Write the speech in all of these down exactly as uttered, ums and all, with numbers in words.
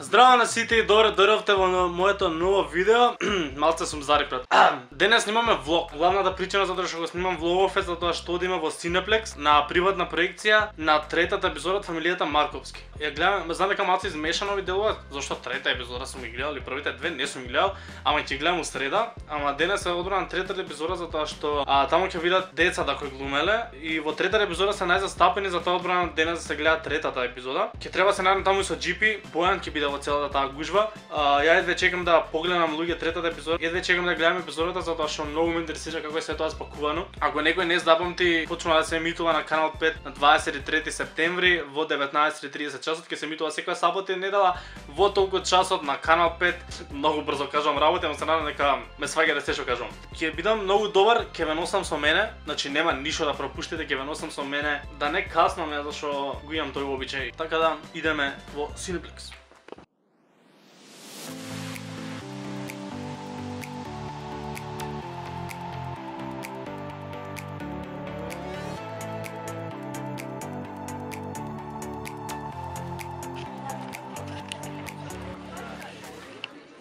Здраво на сите и добре дојдовте во моето ново видео. Малце сум зарипнат. Денес снимаме влог. Главната причина затоа што го снимам влогов е затоа што одиме во Cineplex на приватна проекција на третата епизода од фамилијата Марковски. Ја гледам, знам дека малце измешано ви делува, зашто трета епизода сум ги гледал и првите две не сум ги гледал, ама ќе гледам у среда. Ама денес е одбрана третата епизода затоа што а, таму ќе видат децата кои глумеле и во третата епизода се најзастапени, затоа одбрана денес да се гледа третата епизода. Ќе треба се најдам таму и со Джи Пи, Бојан ќе биде во целата таа гужва. А, ја едве чекам да погледам луѓе третата епизода. Едве чекам да гледам епизодата затоа што многу ме интересира како е се тоа спакувано. Ако некој не запамти, почнува да се емитува на канал пет на дваесет и трети септември во деветнаесет и тридесет часот, ќе се емитува секоја сабота и недела во толку часот на канал пет. Многу брзо кажувам работи, ама се надам дека ме сваѓате се што кажувам. Ќе бидам многу добар, ќе ве носам со мене, значи нема ништо да пропуштите, ќе ве носам со мене, да не каснаме зашто го имам тој обичај. Така да идеме во Cineplex.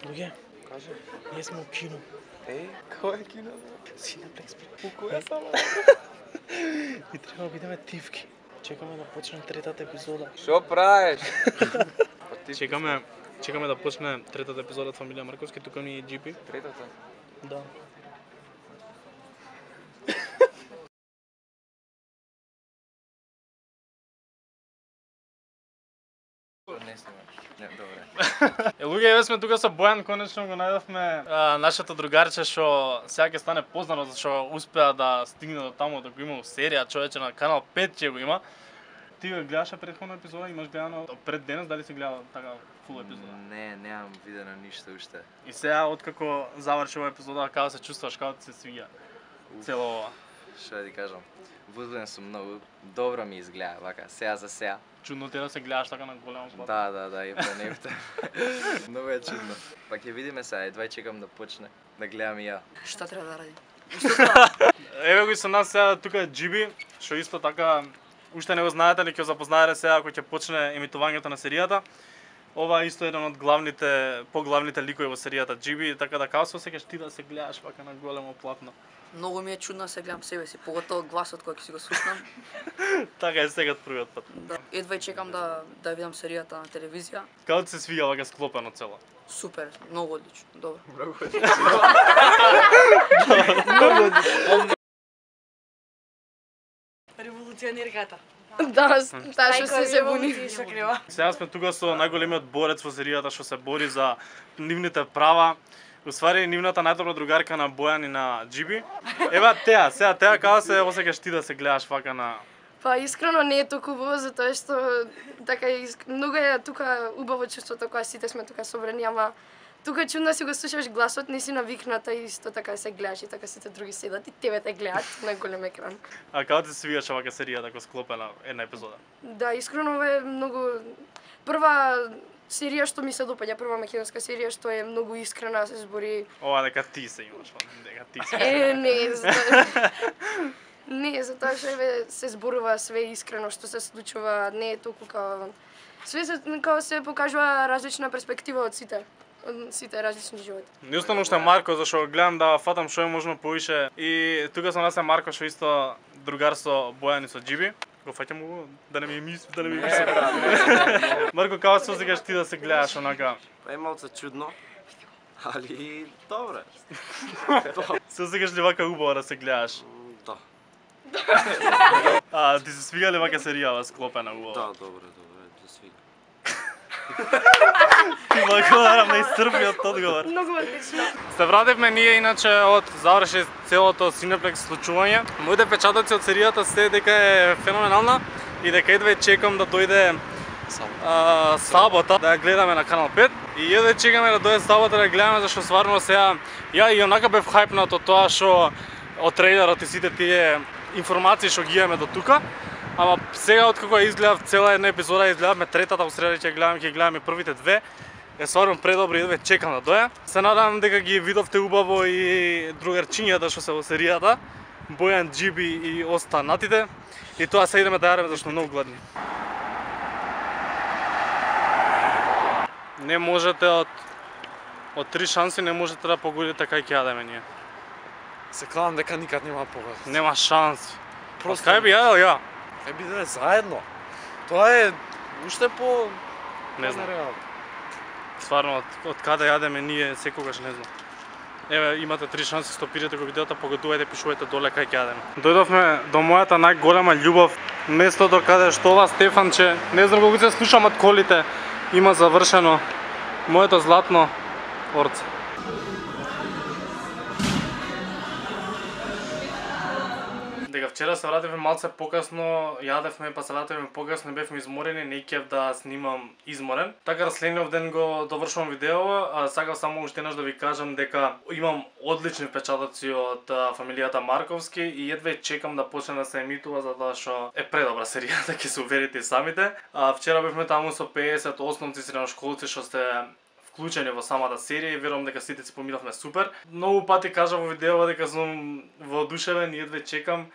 Луѓе, кажи, ние сме у кино. Еј, кој е кино? Cineplex. У која сала? И треба да бидеме тивки. Чекаме да почне третата епизода. Шо правиш? Чекаме, чекаме да почне третата епизода од фамилија Марковски, тука ми е Джи Пи. Третата? Да. Не снимаш. Не, добре. Е, луѓе, еве сме тука со Бојан, конечно го најдовме а, нашето другарче што сега ќе стане познато зашто успеа да стигне до таму да го има серија, човече на канал пет ќе го има. Ти го гледаше претходна епизода, имаш гледано пред денес, дали си гледал така фул епизода? Не, немам видено ништо уште. И сега откако заврши оваа епизода, како се чувствуваш, како ти се свиѓа цело ова? Што да ти кажам? Возбуден сум многу. Добро ми изгледа, вака, сега за сега. Чудно ти е да се гледаш така на големо плато. Да, да, да, и па нефте. Многу е чудно. Па ќе видиме сега, едва чекам да почне, да гледам и ја. Шта треба да ради? Еве го и со нас сега тука Джи Пи, што исто така уште не го знаете, ли ќе запознаете сега кога ќе почне емитувањето на серијата. Ова е исто еден од главните, поглавните ликови во серијата Джи Пи, така да како се осеќаш ти да се гледаш вака на големо платно? Многу ми е чудно да се гледам себе си, поготово гласот кој ќе си го слушнам. Така е сега првиот пат. Да. Едва и чекам да да видам серијата на телевизија. Како ти се свиѓа вака склопено цело? Супер, многу одлично, добро. Многу Револуционерката. Да, таа што се се буни. Сега сме тука со најголемиот борец во серијата што се бори за нивните права. Уствари нивната најдобра другарка на Бојан и на Джи Пи. Ева теа, сега теа како се осеќаш ти да се гледаш вака на... Па искрено не е толку убаво затоа што така иск... многу е тука убаво чувството кога сите сме тука собрани, ама тука чудно си го слушаш гласот, не си навикната и исто така се гледаш и така сите други седат и тебе те гледат на голем екран. А како ти се свиѓаше вака серија така склопена една епизода? Да, искрено е многу прва серија што ми се допаѓа, прва македонска серија што е многу искрена, се збори. Ова дека ти се имаш, дека ти се. Е, не, затоа... не, затоа што еве се зборува све искрено што се случува, не е толку као све се као се покажува различна перспектива од сите. Од сите различни животи. Не остану уште Марко, зашто гледам да фатам што е можно повише и тука со нас е Марко што исто другар со Бојан и со Джи Пи. Го фаќам го да не ми мисли, да не ми мисли. Марко, како се осеќаш ти да се гледаш онака? Па е малце чудно, али добре. Се осеќаш ли вака убаво да се гледаш? Да. А ти се свига ли вака серија склопена убаво? Да, добре, добре, да свига. Ти благодарам на исцрпниот одговор. Многу одлично. Се вративме ние иначе од заврши целото Cineplex случување. Моите печатоци од серијата се дека е феноменална и дека едве чекам да дојде а, сабота да ја гледаме на канал пет и едве чекаме да дојде сабота да ја гледаме зашто стварно сега ја и онака бев хајпнат од тоа што од трейлерот и сите тие информации што ги имаме до тука. Ама сега откако ја изгледав цела една епизода, изгледавме третата, во среда ќе гледаме, ќе гледаме првите две. Е стварно предобро и едве чекам да доја. Се надам дека ги видовте убаво и другарчињата што се во серијата. Бојан, Джи Пи и останатите. И тоа се идеме да јадеме зашто многу гладни. Не можете од од три шанси не можете да погодите кај ќе јадеме ние. Се кланам дека никад нема погодат. Нема шанси. Просто Кај би јадел ја? Кај биде заедно. Тоа е уште по Не знам. нереално. Стварно од, од каде јадеме ние секогаш не знам. Еве имате три шанси, стопирате го видеото, погодувајте, пишувајте доле кај ќе јадеме. Дојдовме до мојата најголема љубов, местото каде што ова Стефанче, не знам колку се слушам од колите, има завршено моето златно орце. Дека вчера се вративме малце покасно, јадевме, па се вративме покасно, бевме изморени, не ќев да снимам изморен. Така да следниот ден го довршувам видео, а сакав само уште еднаш да ви кажам дека имам одлични впечатоци од а, фамилијата Марковски и едве чекам да почне да се емитува затоа што е предобра серијата, ќе се уверите и самите. А, вчера бевме таму со педесет основци средношколци што сте вклучени во самата серија и верувам дека сите си поминавме супер. Многу пати кажав во видео дека сум воодушевен и едве чекам.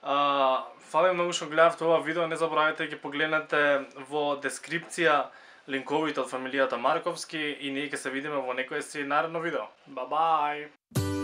А, фала многу што гледавте ова видео, не заборавајте да ги погледнете во дескрипција линковите од фамилијата Марковски и ние ќе се видиме во некое си наредно видео. Ба бај!